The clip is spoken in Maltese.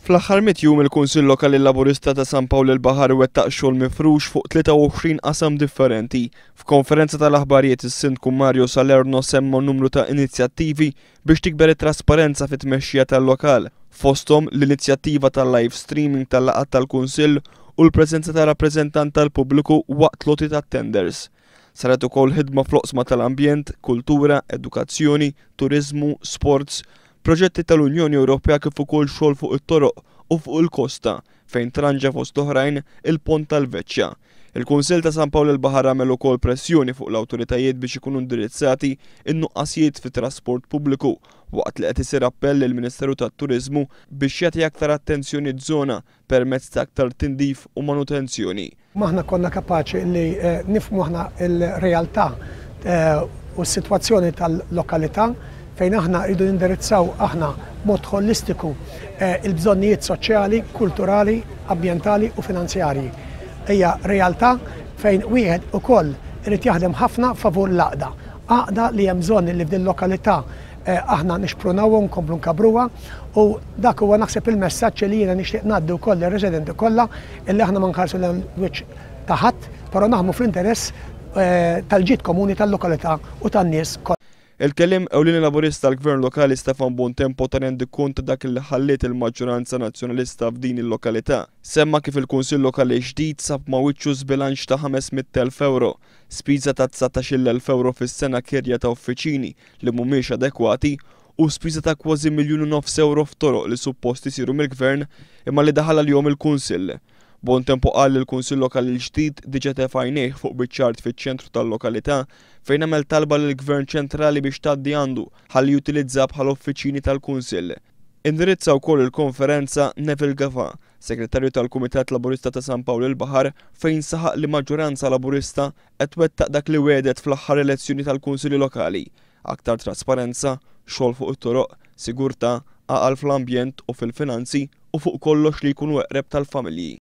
Fl-aħħar mitt jum il-Kunsill Lokali Laburista ta' San Pawl il-Baħar wettaq xogħol mifrux fuq 23 qasam differenti. F'konferenza tal-aħbarijiet is-Sindku Mario Salerno semma numru ta' inizjattivi biex tikber it-trasparenza fit-tmexxija tal-lokal, fosthom l-inizjattiva tal-live streaming tal-laqgħat tal-Kunsill u l-preżenza ta' rappreżentant tal-pubbliku waqt l-għoti tat-tenders. Saret ukoll ħidma fl-oqsma tal-ambjent, kultura, edukazzjoni, turiżmu, sports, proġetti tal-Unjoni Ewropea kif ukoll xogħol fuq it-toroq u fuq il-kosta fejn tranġa fost oħrajn il-Pont tal-Veċċja. Il-Kunsill ta' San Pawl il-Baħar għamel ukoll pressjoni fuq l-awtoritajiet biex ikunu indirizzati n-nuqqasijiet fit-trasport pubbliku waqt li qed isir appell lill-Ministeru tat-Turiżmu biex jagħti aktar attenzjoni ż-żona permezz ta' aktar tindif u manutenzjoni. Aħna konna kapaċi li nifhmu aħna l-realtà u s-sitwazzjoni tal-lokalità fejn aħna rridu nindirizzaw aħna b'mod ħolistiku l-bżonnijiet soċjali, kulturali, ambjentali u finanzjarji. Hija realtà fejn wieħed ukoll irid jaħdem ħafna favur l-għaqda. Għaqda li hemm bżonn li f'din lokalità aħna nixprunawha u nkomplu nkabbruha u dak huwa naħseb il-messaġġ li jiena nixtieq ngħaddi wkoll lir-residenti kollha illi aħna ma nħarsu lejn wiċċ ta' ħadd, però naħdmu fl-interess tal-ġid komuni tal-lokalità u tan-nies kollha. Il-kelliem ewlieni Laburista għall-Gvern Lokali Stefan Buontempo ta rendikont ta' dak li ħalliet il-maġġoranza Nazzjonalista f'din il-lokalità. Semma kif il-Kunsill Lokali ġdid sab ma' wiċċu żbilanċ ta' 500,000 ewro, spiża ta' 19,000 ewro fis-sena kirja ta' uffiċini li mhumiex adekwati u spiża ta' kważi 1.5 miljon ewro f'toroq li suppost isiru mill-Gvern imma li daħal għalihom il-Kunsill. Buontempo qal li l-Kunsill Lokali l-ġdid diġà tefa' għajnejh fuq biċċa art fiċ-ċentru tal-lokalità fejn għamel talba lill-Gvern ċentrali biex tgħaddi għandu ħalli jutilizza bħala uffiċini tal-Kunsill. Indirizza wkoll il-konferenza Neville Gafà, Segretarju tal-Kumitat Laburista ta' San Pawl il-Baħar, fejn saħaq li maġġoranza Laburista qed twettaq dak li wegħdet fl-aħħar elezzjoni tal-Kunsilli Lokali, aktar trasparenza, xogħol fuq it-toroq, sigurtà, għaqal fl-ambjent u fil-finanzi u fuq kollox li jkunu eqreb tal-familji.